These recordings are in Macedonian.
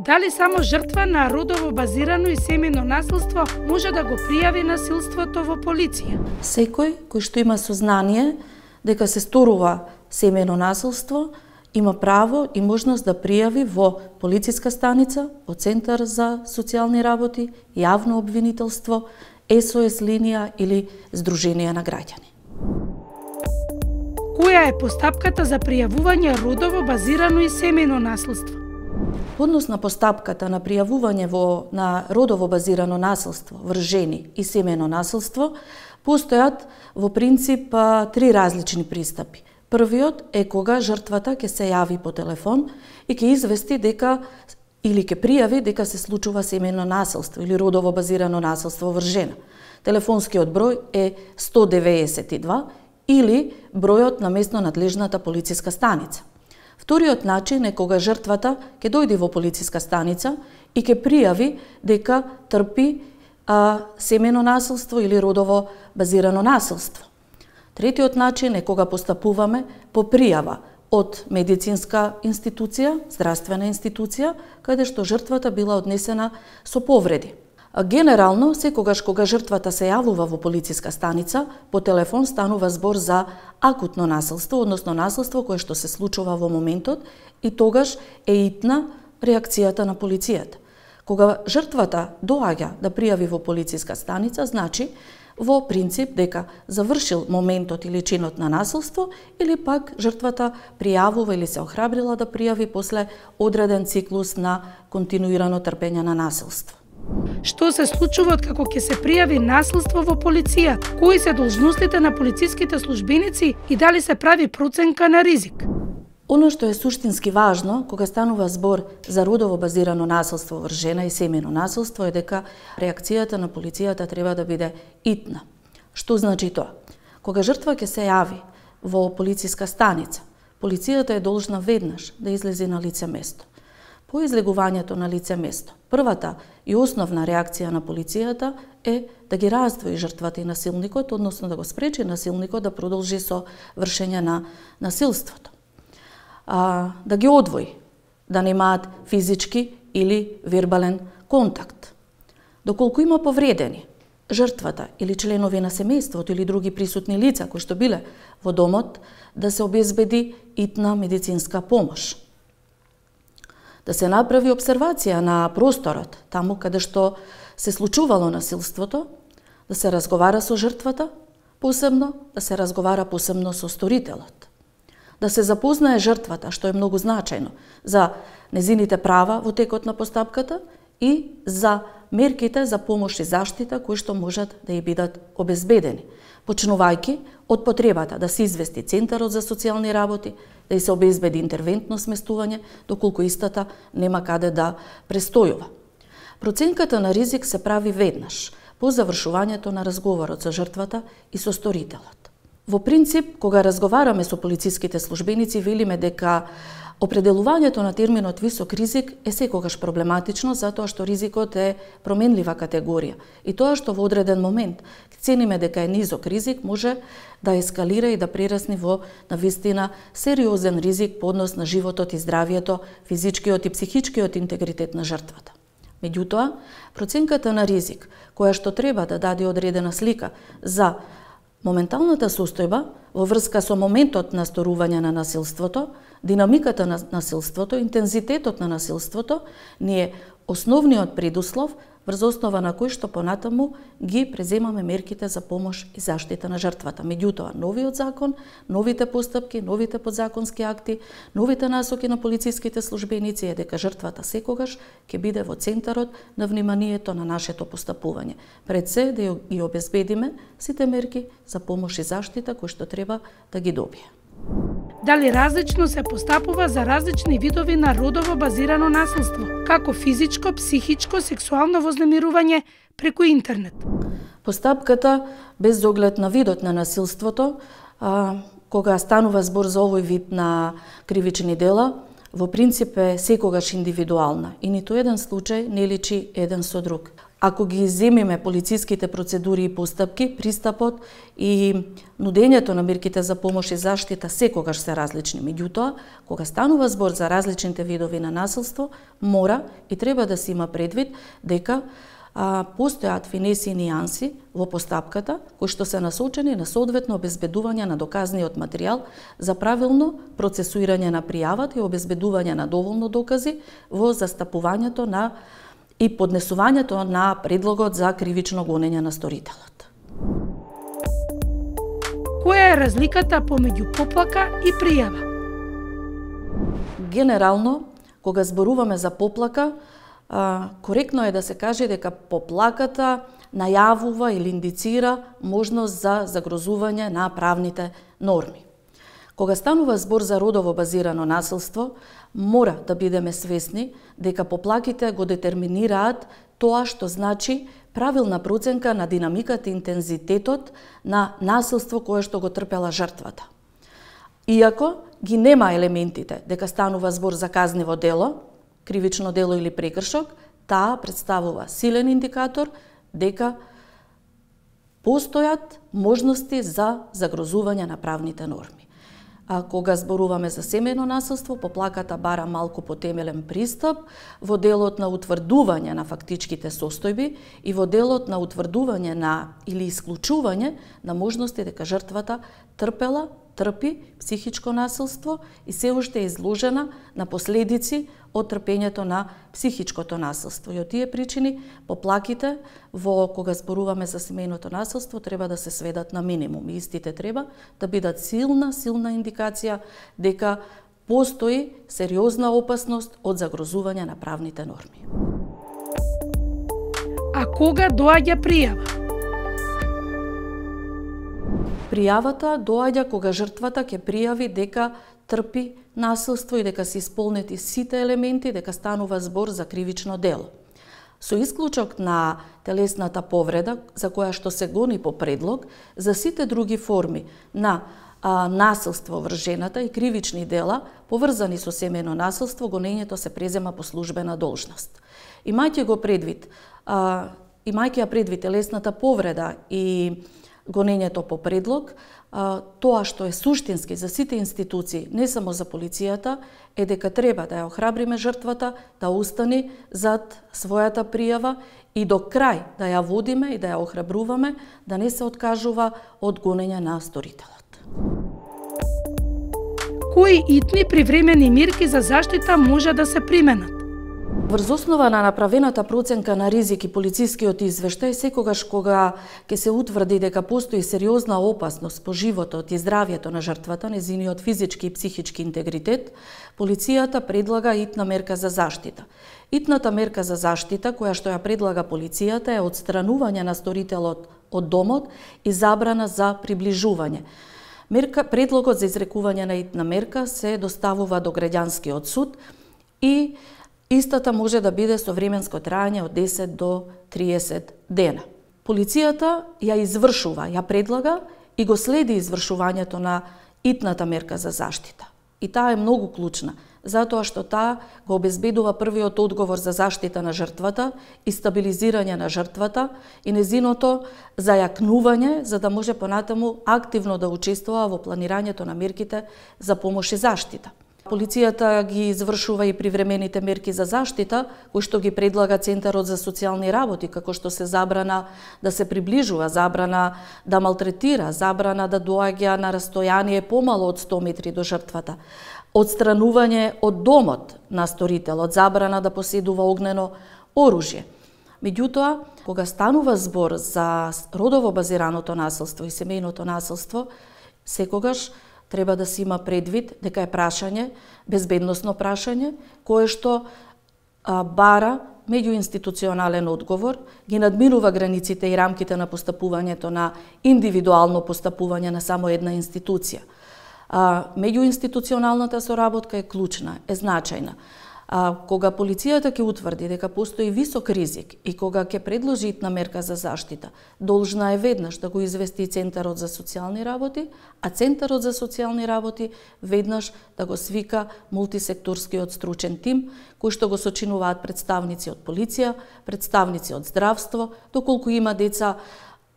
Дали само жртва на родово базирано и семејно насилство може да го пријави насилството во полиција? Секој кој што има сознание дека се сторува семејно насилство, има право и можност да пријави во полициска станица, во Центар за социјални работи, јавно обвинителство, СОС линија или Сдружение на граѓани. Која е постапката за пријавување родово базирано и семејно насилство? Во однос на постапката на пријавување на родово базирано насилство врз жени и семејно насилство, постојат во принцип три различни пристапи. Првиот е кога жртвата ќе се јави по телефон и ќе извести дека или ќе пријави дека се случува семејно насилство или родово базирано насилство врз жена. Телефонскиот број е 192 или бројот на местно надлежната полициска станица. Вториот начин е кога жртвата ќе дојде во полициска станица и ќе пријави дека трпи семејно насилство или родово базирано насилство. Третиот начин е кога постапуваме по пријава од медицинска институција, здравствена институција, каде што жртвата била однесена со повреди. Генерално, секогаш кога жртвата се јавува во полициска станица, по телефон станува збор за акутно насилство, односно насилство кое што се случува во моментот и тогаш е итна реакцијата на полицијата. Кога жртвата доаѓа да пријави во полициска станица, значи во принцип дека завршил моментот или чинот на насилство или пак жртвата пријавува или се охрабрила да пријави после одреден циклус на континуирано трпење на насилство. Што се случува откако ќе се пријави насилство во полицијата? Кои се должностите на полициските службеници и дали се прави проценка на ризик? Оно што е суштински важно кога станува збор за родово базирано насилство врз жена и семејно насилство е дека реакцијата на полицијата треба да биде итна. Што значи тоа? Кога жртва ќе се јави во полициска станица, полицијата е должна веднаш да излезе на лице место. По излегувањето на лице место, првата и основна реакција на полицијата е да ги раздвои жртвата и насилникот, односно да го спречи насилникот да продолжи со вршење на насилството. Да ги одвои, да немаат физички или вербален контакт. Доколку има повредени, жртвата или членови на семејството или други присутни лица кои што биле во домот, да се обезбеди итна медицинска помош. Да се направи обсервација на просторот, таму каде што се случувало насилството, да се разговара со жртвата, посебно да се разговара посебно со сторителот. Да се запознае жртвата, што е многу значајно за незините права во текот на постапката и за мерките за помош и заштита кои што можат да ја бидат обезбедени, почнувајќи од потребата да се извести Центарот за социјални работи, да и се обезбеди интервентно сместување, доколку истата нема каде да престојува. Проценката на ризик се прави веднаш, по завршувањето на разговорот со жртвата и со сторителот. Во принцип, кога разговараме со полициските службеници, велиме дека определувањето на терминот висок ризик е секогаш проблематично, затоа што ризикот е променлива категорија. И тоа што во одреден момент цениме дека е низок ризик, може да ескалира и да прерасне во навистина сериозен ризик по однос на животот и здравието, физичкиот и психичкиот интегритет на жртвата. Меѓутоа, проценката на ризик, која што треба да даде одредена слика за моменталната состојба во врска со моментот на сторување на насилството, динамиката на насилството, интензитетот на насилството, ни е основниот предуслов врз основа на кој што понатаму ги преземаме мерките за помош и заштита на жртвата. Меѓутоа, новиот закон, новите постапки, новите подзаконски акти, новите насоки на полициските службеници е дека жртвата секогаш ќе биде во центарот на вниманието на нашето постапување. Пред се да ја обезбедиме сите мерки за помош и заштита кои што треба да ги добие. Дали различно се постапува за различни видови на родово базирано насилство, како физичко, психичко, сексуално вознемирување преку интернет? Постапката, без оглед на видот на насилството, кога станува збор за овој вид на кривични дела, во принцип е секогаш индивидуална и ниту еден случај не личи еден со друг. Ако ги земиме полициските процедури и постапки, пристапот и нудењето на мерките за помош и заштита секогаш се различни. Меѓутоа, кога станува збор за различните видови на насилство, мора и треба да се има предвид дека постојат финеси и нијанси во постапката кои што се насочени на соодветно обезбедување на доказниот материјал за правилно процесуирање на пријавата и обезбедување на доволно докази во застапувањето на и поднесувањето на предлогот за кривично гонење на сторителот. Која е разликата помеѓу поплака и пријава? Генерално, кога зборуваме за поплака, коректно е да се каже дека поплаката најавува или индицира можност за загрозување на правните норми. Кога станува збор за родово базирано насилство, мора да бидеме свесни дека поплаките го детерминираат тоа што значи правилна проценка на динамиката и интензитетот на насилство кое што го трпела жртвата. Иако ги нема елементите дека станува збор за казниво дело, кривично дело или прекршок, таа представува силен индикатор дека постојат можности за загрозување на правните норми. А кога зборуваме за семејно насилство, поплаката бара малку потемелен пристап во делот на утврдување на фактичките состојби и во делот на утврдување на или исклучување на можности дека жртвата трпи психичко насилство и се уште е изложена на последици од трпењето на психичкото насилство. И од тие причини поплаките кога зборуваме за семејното насилство треба да се сведат на минимум. И истите треба да бидат силна индикација дека постои сериозна опасност од загрозување на правните норми. А кога доаѓа пријава? Пријавата доаѓа кога жртвата ќе пријави дека трпи насилство и дека се исполнети сите елементи, дека станува збор за кривично дело. Со исклучок на телесната повреда, за која што се гони по предлог, за сите други форми на насилство врз жената и кривични дела, поврзани со семејно насилство, гонењето се презема по службена должност. Имајќи ја предвид телесната повреда и гонењето по предлог, тоа што е суштински за сите институции, не само за полицијата, е дека треба да ја охрабриме жртвата, да устани зад својата пријава и до крај да ја водиме и да ја охрабруваме да не се откажува од гонење на сторителот. Кои итни привремени мерки за заштита може да се применат? Врз основа на направената проценка на ризик и полицискиот извештај, секогаш кога ќе се утврди дека постои сериозна опасност по животот и здравјето на жртвата, незиниот физички и психички интегритет, полицијата предлага итна мерка за заштита. Итната мерка за заштита, која што ја предлага полицијата, е отстранување на сторителот од домот и забрана за приближување. Предлогот за изрекување на итна мерка се доставува до граѓанскиот суд и истата може да биде со временско траење од 10 до 30 дена. Полицијата ја извршува, ја предлага и го следи извршувањето на итната мерка за заштита. И таа е многу клучна, затоа што таа го обезбедува првиот одговор за заштита на жртвата и стабилизирање на жртвата и незиното зајакнување, за да може понатаму активно да учествува во планирањето на мерките за помош и заштита. Полицијата ги извршува и привремените мерки за заштита, кои што ги предлага Центарот за социјални работи, како што се забрана да се приближува, забрана да малтретира, забрана да доаѓа на растојание помало од 100 метри до жртвата, отстранување од домот на сторителот, забрана да поседува огнено оружје. Меѓутоа, кога станува збор за родово базираното насилство и семејното насилство, секогаш треба да се има предвид дека е прашање, безбедносно прашање, кое што бара меѓуинституционален одговор, ги надминува границите и рамките на постапувањето на индивидуално постапување на само една институција. Меѓуинституционалната соработка е клучна, е значајна. Кога полицијата ќе утврди дека постои висок ризик и кога ќе предложи итна мерка за заштита, должна е веднаш да го извести Центарот за социјални работи, а Центарот за социјални работи веднаш да го свика мултисекторскиот стручен тим, кој што го сочинуваат представници од полиција, представници од здравство, доколку има деца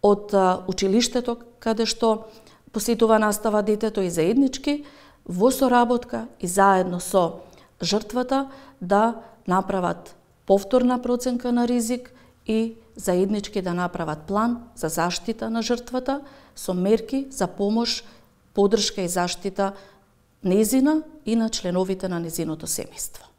од училиштето каде што посетува настава детето и заеднички, во соработка и заедно со жртвата да направат повторна проценка на ризик и заеднички да направат план за заштита на жртвата со мерки за помош, поддршка и заштита незина и на членовите на незиното семејство.